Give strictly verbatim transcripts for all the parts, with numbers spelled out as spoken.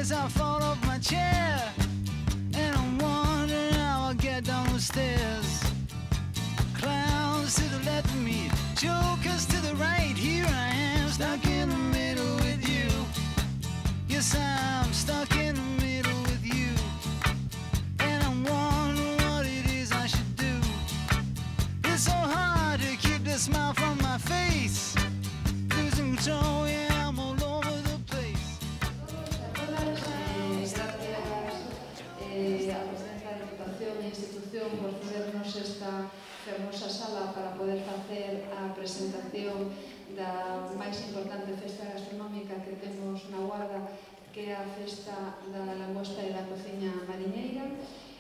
as I fall off my chair, and I'm wondering how I'll get down the stairs. Clowns to the left of me, jokers to the right. Here I am, stuck in the middle with you. Yes, I'm stuck in the middle with you. And I'm wondering what it is I should do. It's so hard to keep the smile from my face. Losing control, yeah, I'm all over the place. Eh, a presencia da Diputación e Institución por cedernos esta fermosa sala para poder facer a presentación da máis importante festa gastronómica que temos na Guarda, que é a festa da langosta e da cociña mariñeira.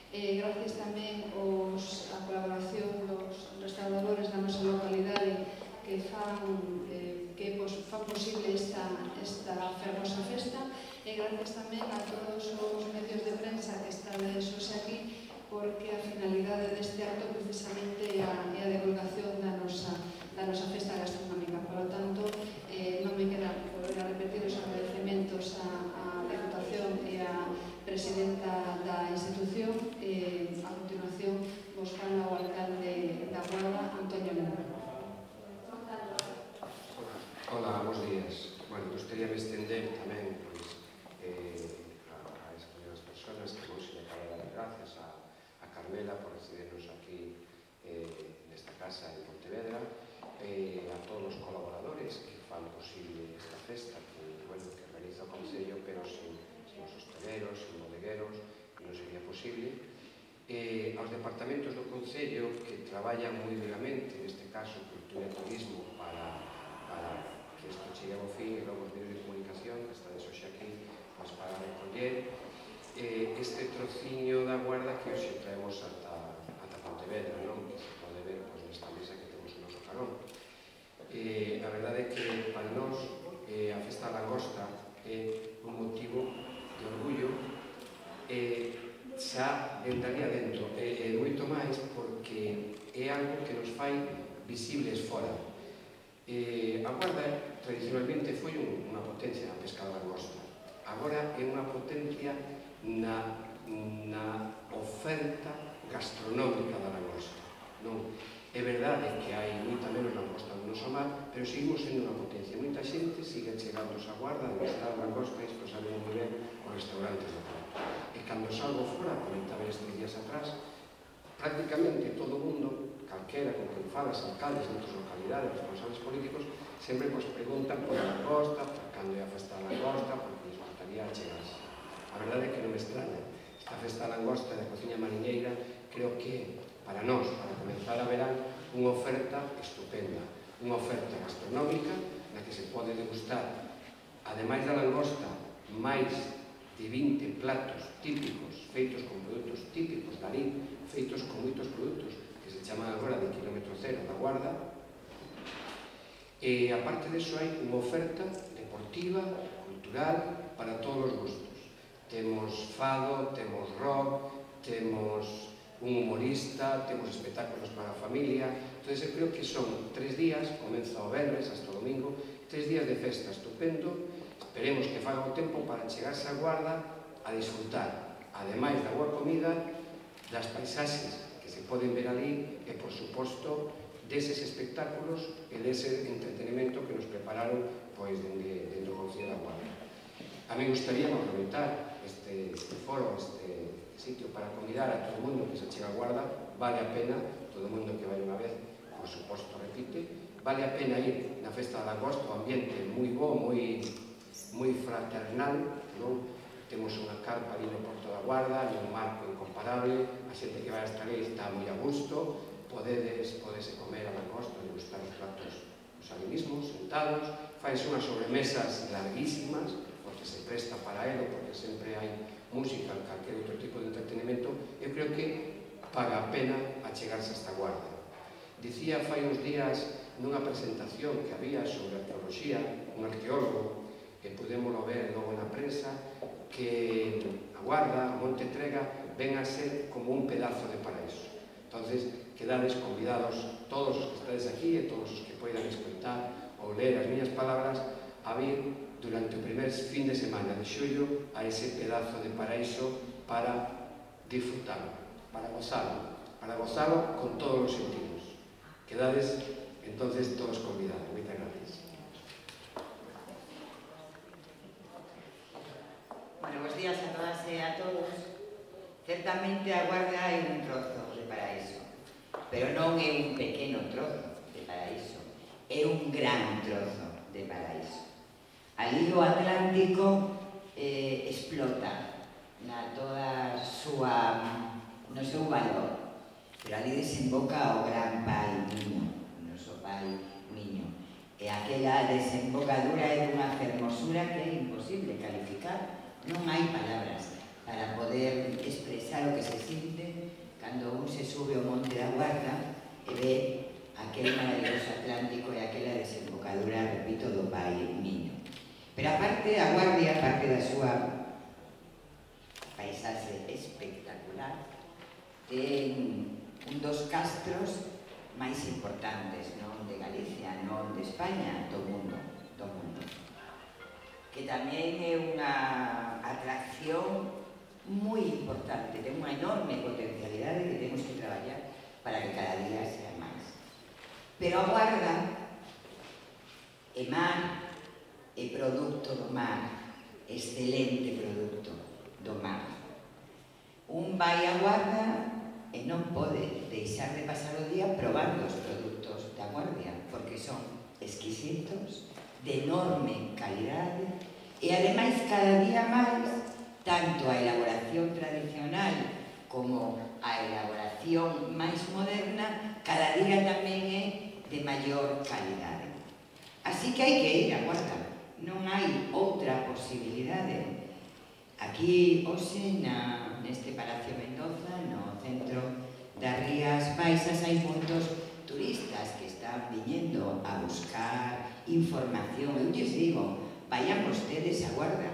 Eh, gracias tamén aos, a colaboración dos restauradores da nosa localidade que fan, eh, que pos, fan posible esta, esta fermosa festa, e gracias tamén a todos os medios de prensa que estades hoxe aquí, porque a finalidade deste acto precisamente é a, é a divulgación da nosa, da nosa festa gastronómica. Por lo tanto, eh, non me queda volver a repetir os agradecementos a, a Deputación e a Presidenta da institución. Eh, a continuación, vos fala o alcalde da Guarda, Antonio Lema. Hola, bons días. Bueno, gustaría me estender tamén pois, eh, a, a esas persoas que vos le acabo de dar gracias a, a Carmela por recibernos aquí eh, nesta casa en Pontevedra, eh, a todos os colaboradores que fan posible esta festa que, bueno, que realiza o Concello, pero sin, sin os hosteleros, sin bodegueros, non sería posible. Eh, aos departamentos do Concello que traballan moi duramente, neste caso Cultura e Turismo, para, para que isto chegue ao fin, e logo os medios de comunicación, que estades hoxe aquí, pois para recoller eh, este trociño da Guarda que hoxe traemos ata, ata Pontevedra, non? Que se pode ver pois, nesta mesa que temos o noso carón. Eh, a verdade é que para nós eh, a festa da langosta é un motivo de orgullo, eh, xa entraría dentro, e, e moito máis porque é algo que nos fai visibles fora. Eh, a Guarda tradicionalmente foi un, unha potencia na pesca da langosta. Agora é unha potencia na, na oferta gastronómica da langosta. Non? É verdade que hai moita menos langosta no noso mar, pero seguimos sendo unha potencia. Moita xente sigue chegando a Guarda a degustar langosta, e isto sabemos moi ben os restaurantes do Prato. E cando salgo fora, comentaba estes días atrás, prácticamente todo o mundo, calquera con quen falas, alcaldes de outras localidades, responsables políticos, sempre nos preguntan por a langosta, por cando é a festa da langosta, porque les gustaría chegarse. A verdade é que non me extraña. Esta festa da langosta e da cociña mariñeira creo que para nós, para comenzar a verán, unha oferta estupenda, unha oferta gastronómica na que se pode degustar, ademais da langosta, máis de vinte platos típicos feitos con produtos típicos da Rín, feitos con moitos produtos que se chaman agora de kilómetro cero da Guarda. E aparte disso hai unha oferta deportiva, cultural, para todos os gustos. Temos fado, temos rock, temos un humorista, temos espectáculos para a familia. Entón, eu creo que son tres días, comeza o venres hasta o domingo, tres días de festa estupendo. Esperemos que faga o tempo para chegarse á Guarda a disfrutar, ademais da boa comida, das paisaxes que se poden ver ali e, por suposto, deses espectáculos e dese entretenimento que nos prepararon pois dende, dende o Concello da Guarda. A mí gustaría aproveitar este, este foro, este sitio para convidar a todo o mundo que se chega a Guarda. Vale a pena, todo o mundo que vai unha vez, por suposto, repite, vale a pena ir na festa da langosta, o ambiente moi bo, moi moi fraternal, non? Temos unha carpa ali no Porto da Guarda, un marco incomparable, a xente que vai hasta ali está moi a gusto, podedes, podese comer a langosta, degustar os platos os ali mismos, sentados, faise unhas sobremesas larguísimas, porque se presta para elo, porque sempre hai música, calquer outro tipo de entretenimento. Eu creo que paga a pena achegarse a esta Guarda. Dicía fai uns días nunha presentación que había sobre arqueoloxía, un arqueólogo, que podémoslo ver logo na prensa, que a Guarda, a Monte Trega, ven a ser como un pedazo de paraíso. Entonces, quedades convidados todos os que estades aquí e todos os que poidan escoitar ou ler as miñas palabras a vir durante o primer fin de semana de xullo a ese pedazo de paraíso para disfrutarlo, para gozarlo, para gozarlo con todos os sentidos. Quedades entonces todos convidados. Moitas gracias. Bueno, bons días a todas e a todos. Certamente a Guarda é un trozo de paraíso, pero non é un pequeno trozo de paraíso, é un gran trozo de paraíso. Ali o Atlántico eh, explota na toda súa, no seu valor, pero ali desemboca o gran pai Miño, o noso pai Miño. E aquela desembocadura é dunha fermosura que é imposible calificar. Non hai palabras para poder expresar o que se sinte cando un se sube ao Monte da Guarda e ve aquel maravilloso Atlántico e aquela desembocadura, repito, do pai Miño. Pero aparte, a Guardia, aparte da súa paisaxe espectacular, ten un dos castros máis importantes, non de Galicia, non de España, do mundo, do mundo. Que tamén é unha atracción moi importante, ten unha enorme potencialidade que temos que traballar para que cada día sea máis. Pero a Guarda é mar, é produto do mar, excelente produto do mar. Un vai a Guarda e non pode deixar de pasar o día probando os produtos da Guardia, porque son exquisitos, de enorme calidade, e ademais cada día máis, tanto a elaboración tradicional como a elaboración máis moderna, cada día tamén é de maior calidade. Así que hai que ir a Guarda. Non hai outra posibilidade. Aquí, hoxe, na, neste Palacio Mendoza, no centro das Rías Baixas, hai moitos turistas que están viñendo a buscar información. Eu lles digo, vayan vostedes a Guarda,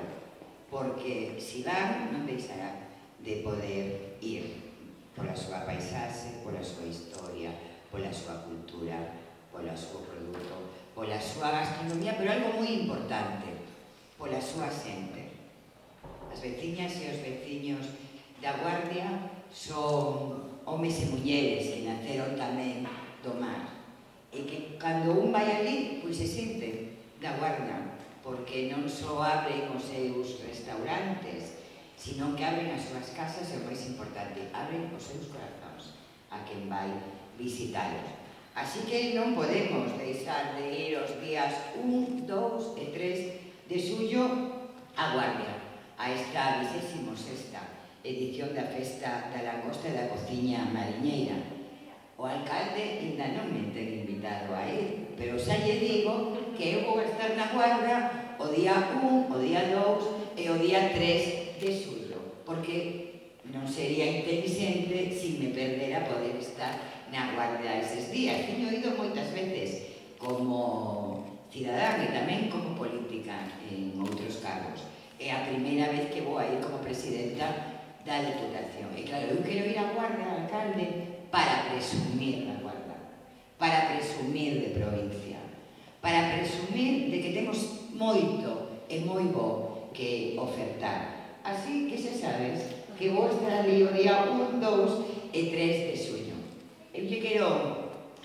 porque se van non deixarán de poder ir pola súa paisaxe, pola súa historia, pola súa cultura, pola súa produto, pola súa gastronomía, pero algo moi importante, pola súa xente. As veciñas e os veciños da Guardia son homes e mulleres que naceron tamén do mar, e que cando un vai ali, pois se sente da Guardia, porque non só abren os seus restaurantes, sino que abren as súas casas e o máis importante, abren os seus corazóns a quen vai visitalos. Así que non podemos deixar de ir os días un, dous e tres de xullo a Guardia, a esta vigésima sexta edición da Festa da Langosta e da Cociña Mariñeira. O alcalde ainda non me ten invitado a ir, pero xa lle digo que eu vou estar na Guarda o día un, o día dous e o día tres de xullo, porque non sería inteligente se me perdera poder estar na Guardia eses días. Teño ido moitas veces como cidadán e tamén como política en outros cargos. É a primeira vez que vou a ir como presidenta da Diputación. E claro, eu quero ir a Guardia, alcalde, para presumir da Guardia, para presumir de provincia, para presumir de que temos moito e moi bo que ofertar. Así que xa sabes que vou estar ali o día un, dous e tres de xullo. Eu lle quero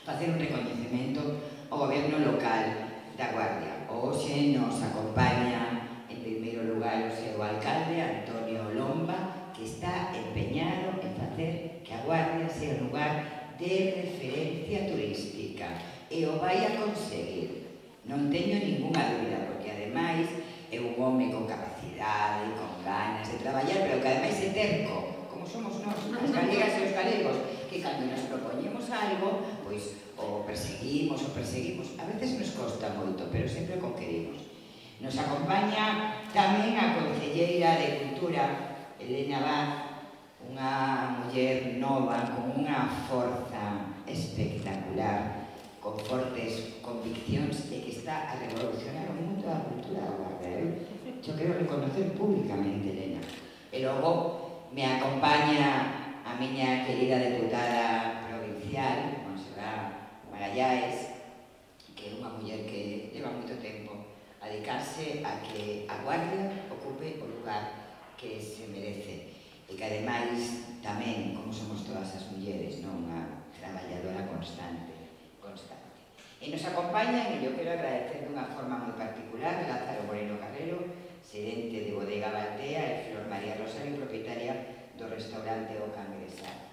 facer un recoñecemento ao goberno local da Guardia. Hoxe nos acompaña en primeiro lugar o seu alcalde, Antonio Lomba, que está empeñado en facer que a Guardia sea un lugar de referencia turística, e o vai a conseguir. Non teño ninguna dúbida, porque ademais é un home con capacidade, con ganas de traballar, pero que ademais é terco, como somos nós, as galegas e os galegos, que cando nos propoñemos algo, pois o perseguimos, o perseguimos. A veces nos costa moito, pero sempre o conquerimos. Nos acompaña tamén a concelleira de Cultura, Elena Vaz, unha muller nova, con unha forza espectacular, con fortes conviccións e que está a revolucionar o mundo da cultura da Guarda. Eu quero reconocer públicamente, Elena. E logo me acompaña a miña querida deputada provincial, Monserrat Magallanes, que é unha muller que leva moito tempo a dedicarse axudarche a que a Guardia ocupe o lugar que se merece e que ademais tamén, como somos todas as mulleres, non, unha traballadora constante, constante. E nos acompañan, e eu quero agradecer de unha forma moi particular, Lázaro Moreno Carrero, xerente de Bodega Baltea, e Flor María Rosario, propietaria do restaurante O Cangresal.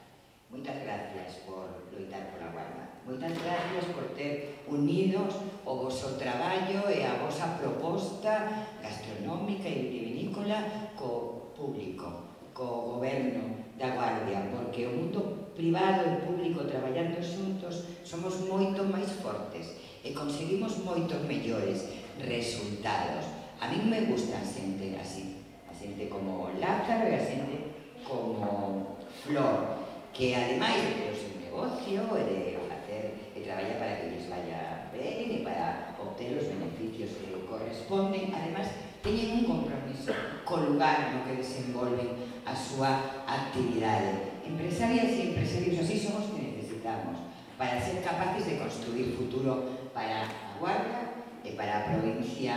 Moitas gracias por loitar pola Guarda. Moitas gracias por ter unidos o voso traballo e a vosa proposta gastronómica e vitivinícola co público, co goberno da Guardia, porque o mundo privado e público traballando xuntos somos moito máis fortes e conseguimos moitos mellores resultados. A min me gusta a xente así, a xente como Lázaro e a xente como Flor, que ademais de ter o seu negocio e de facer e traballar para que lles vaya ben e para obter os beneficios que corresponden, ademais teñen un compromiso co lugar no que desenvolven a súa actividade. Empresarias e empresarios así son os que necesitamos para ser capaces de construir futuro para a Guarda e para a provincia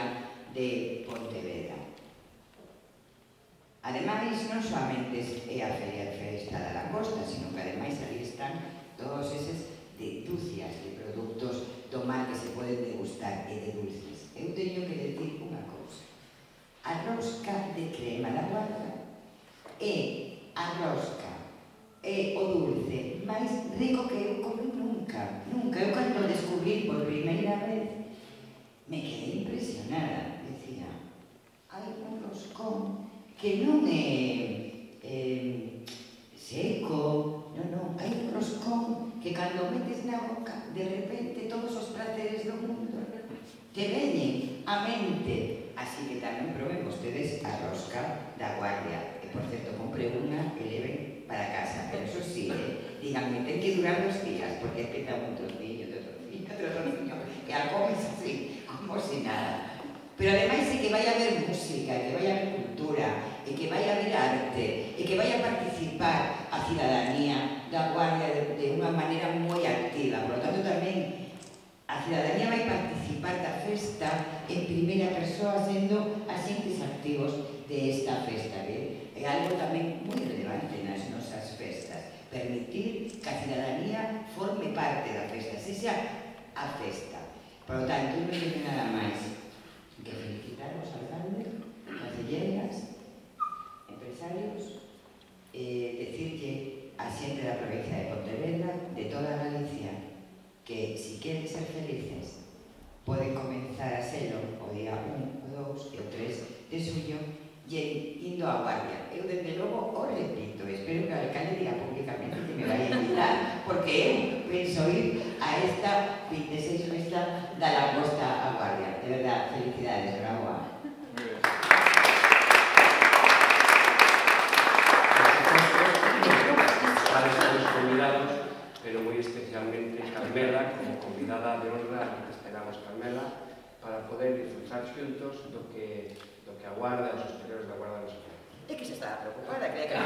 de Pontevedra. Ademais, non solamente é a Feria de Festa da Langosta, sino que ademais ali están todos eses deducias de produtos do mar que se poden degustar e de dulces. Eu teño que decir unha cousa. A rosca de crema da Guarda é a rosca, é o dulce máis rico que eu comi nunca, nunca. Eu cando descubrí por primeira vez me quedei impresionada. Decía, hai un roscón que non é eh, seco, non, non, hai un roscón que cando metes na boca, de repente todos os praceres do mundo te veñen a mente. Así que tamén proben vostedes a rosca da Guardia. E, por certo, compre unha e leven para casa. Pero eso sí, eh, díganme, ten que durar dos días, porque peta un trocillo, outro trocillo, outro trocillo, e a comes así, como si nada. Pero ademais é que vai a haber música, que vai a haber cultura, e que vai a haber arte, e que vai a participar a cidadanía da Guardia de, de unha maneira moi activa. Por lo tanto, tamén a cidadanía vai participar da festa en primeira persoa, sendo agentes activos de esta festa, que é algo tamén moi relevante nas nosas festas. Permitir que a cidadanía forme parte da festa, sexa a festa. Por lo tanto, non teño nada máis que felicitar aos alcaldes, concelleiras, empresarios, eh, decirlle a xente da provincia de Pontevedra, de toda Galicia, que si queren ser felices poden comenzar a selo o día un, o dos e o tres de suyo e indo á Guardia. Eu, desde logo, o repito, espero que o alcalde diga públicamente que me vai a invitar, porque eu penso ir a esta vinte e seis festa da Langosta á Guardia. De verdad, felicidades, bravo. Para todos convidados, pero moi especialmente Carmela, como convidada de honra, que esperamos Carmela, para poder disfrutar xuntos do que, do que aguarda os superiores da Guarda Nacional. É que se estaba preocupada, creía que